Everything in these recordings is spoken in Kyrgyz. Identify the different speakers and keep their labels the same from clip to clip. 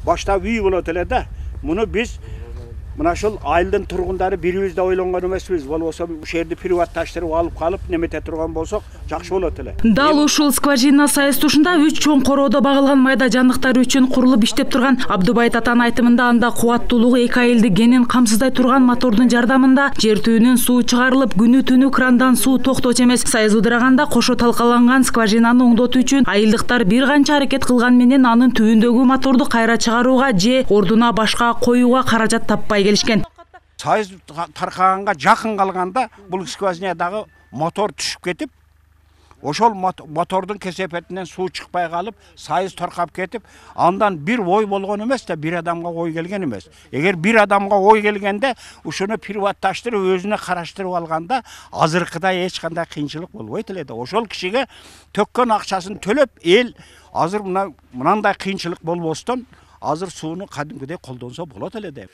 Speaker 1: башта үй болот эле да. Муну биз мына ушул айылдын тургундары бирибиз да ойлонгон эмеспиз. Болбосо ушул жерди приватташтырып алып калып немете турган болсок жакшы болот эле.
Speaker 2: Дал ушул скважина саестушунда 3 чоң короодо багылган майда жандыктар үчүн курулуп иштеп турган Абдубай Татанын айтымында анда кубаттуулугу 2 айылды кенен камсыздай турган мотордун жардамында жер түбүнөн суу чыгарылып, күнү түнү крандан суу токточу эмес. Саяз ыдыраганда кошо талкаланган скважинаны оңдотуу үчүн айылдыктар бир канча аракет кылган менен анын түбүндөгү моторду кайра чыгарууга же ордуна башка коюуга каражат таппай келишкен.
Speaker 1: Саяз таркаганга жакын калганда бул скважинадагы мотор түшүп кетип, ошол мотордун кесепетинен суу чыкпай калып, саяз торкап кетип, андан бир ой болгон эмес да, бир адамга ой келген эмес. Эгер бир адамга ой келгенде, ушуну приватташтырып өзүнө караштырып алганда, азыркыдай эч кандай кыйынчылык болбойт эле да. Ошол кишиге төккөн акчасын төлөп, эл азыр мынандай кыйынчылык болбостон, азыр сууну кадимкидей колдонсо болот эле деп.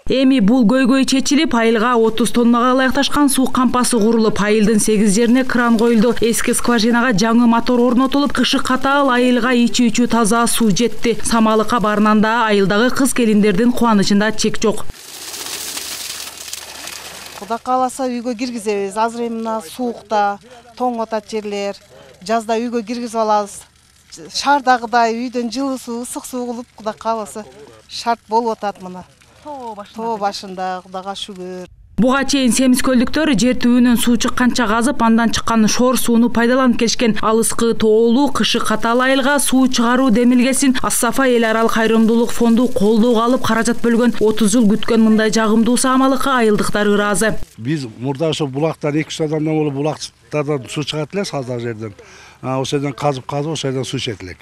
Speaker 2: Эми бул көйгөй чечилип, айылга 30 тоннага ылайыкташкан суу кампасы курулуп, айылдын 8 жерине кран коюлду. Эски скважинага жаңы мотор орнотулуп, кышы катаал айылга ичүү таза суу жетти. Самалыкка барнанда айылдагы кыз келиндердин кубанычында чек жок.
Speaker 3: Кудай кааласа үйгө киргизебиз. Азыр эми мына суукта, тоң атат жерлер, жазда үйгө киргизип алабыз. Шаардагыдай үйдөн жылуу суу, ысык суу кылып, кудай кааласа шарт болуп атат мына. Тоо башында, Кудайга шүгүр.
Speaker 2: Буга чейин семиз көлдүктөр жер түбүнөн суу чыкканча казып, андан чыккан шор сууну пайдаланып келишкен. Алыскы тоолуу кышы катаал айылга суу чыгаруу демилгесин Ас-Сафа эл аралык кайрымдуулук фонду колдоого алып каражат бөлгөн. 30 жыл күткөн мындай жагымдуу самалыкка айылдыктар ыраазы.
Speaker 4: Биз мурда ошо булактар 2-3 адамдан болуп булактардан суу чыгат эле саздак жерден. Ошол жерден казып ошол жерден суу ичет элек.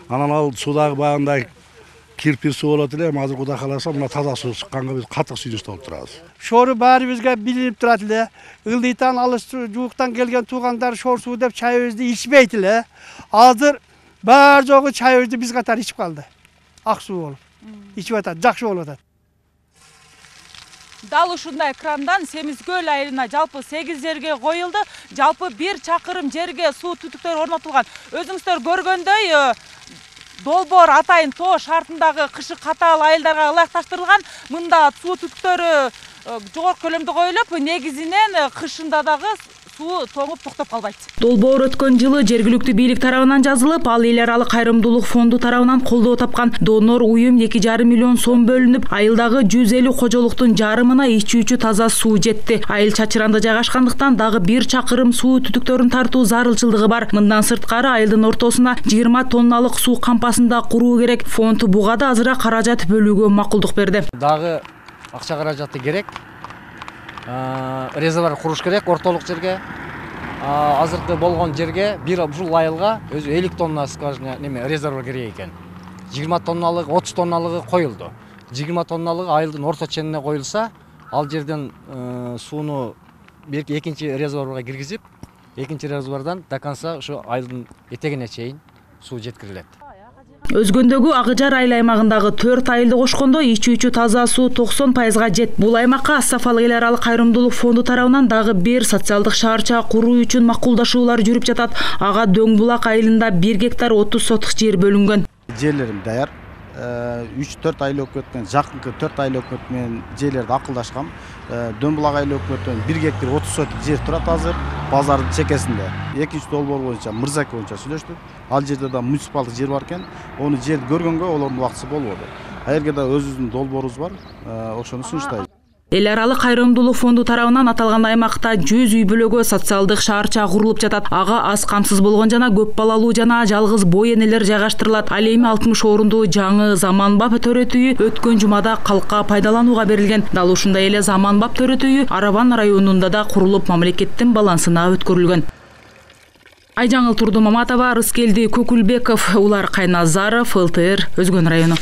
Speaker 4: Анан ал суудагы баягындай кирпир суу болот эле, азыр Кудай кааласа мына таза суу чыкканга биз катык сүйүнүштүү болуп турабыз.
Speaker 5: Шору баарыбызга билинип турат эле. Ылдыйтан алыс жууктан келген туугандар шор суу деп чайыбызды ичпейт эле. Азыр баар жогу чайыбызды биз катары ичип калды. Ак суу болуп. Ичип атат, жакшы болуп атат.
Speaker 6: Дал ушундай крандан Семизкөл айылына жалпы 8 жерге коюлду. Жалпы 1 чакырым жерге суу түтүктөр орнотулган. Өзүңүздөр көргөндөй долбоор атайын тоо шартындагы кышы катаал айылдарга ылайыкташтырылган. Мында суу түтүктөрү жогорку көлөмдө коюлуп, негизинен кышында дагы суу тоңуп токтоп калбайт.
Speaker 2: Долбоор өткөн жылы жергиликтүү бийлик тарабынан жазылып, ал эл аралык кайрымдуулук фонду тарабынан колдоо тапкан. Донор уюм 2,5 миллион сом бөлүнүп, айылдагы 150 кожолуктун жарымына ичүүчү таза суу жетти. Айыл чачыранда жайгашкандыктан дагы 1 чакырым суу түтүктөрүн тартуу зарылчылыгы бар. Мындан сырткары айылдын ортосуна 20 тонналык суу кампасында куруу керек. Фонд буга да азыраак каражат бөлүүгө макулдук берди.
Speaker 7: Дагы акча каражаты керек. Резервуар куруш керек ортолук жерге. Азыркы болгон жерге бир ушул айылга өзү 50 тонна скважина резервуар керек экен. 20 тонналык, 30 тонналыгы коюлду. 20 тонналыгы айылдын орто ченине коюлса, ал жерден сууну экинчи резервуарга киргизип, экинчи резервуардан до конца ушу айылдын этегине чейин суу жеткирилет.
Speaker 2: Өзгөндөгү Агыжар айыл аймагындагы 4 айылды кошкондо ичүүчү таза суу 90%га жет. Бул аймакка Ас-Сафа эл аралык кайрымдуулук фонду тарабынан дагы бир социалдык шаарча куруу үчүн макулдашуулар жүрүп жатат. Ага Дөң булак айылында 1 гектар 30 сотук жер бөлүнгөн.
Speaker 8: Жерлерим даяр. 3-4 айыл өкмөт менен, жакынкы 4 айыл өкмөт менен жерлерди акылдашкам. Дөң булак айыл өкмөтүнөн 1 гектар 30 сотук жер турат азыр базардын чекесинде. Экинчи долбоор боюнча Мырзаке боюнча сүйлөштүк. Ал жерде да муниципалдык жер бар экен. Ону жерди көргөнгө олордун убактысы болбоду. Эгерде да өзүбүздүн долбоорубуз бар, ошону сунуштайбыз.
Speaker 2: Эл аралык кайрымдуулук фонду тарабынан аталган аймакта 100 үй бүлөгө социалдык шаарча курулуп жатат. Ага аз камсыз болгон жана көп балалуу жана жалгыз бой энелер жайгаштырылат. Ал эми 60 орундуу жаңы Заманбап төрөт үйү өткөн жумада калкка пайдаланууга берилген. Дал ушундай эле Заманбап төрөт үйү Арабан районунда да курулуп мамлекеттин балансына өткөрүлгөн. Айжаңыл Турдумаматова, Рыскелди Көкүлбеков, Улар Кайназаров, ЛТР, Өзгөн району.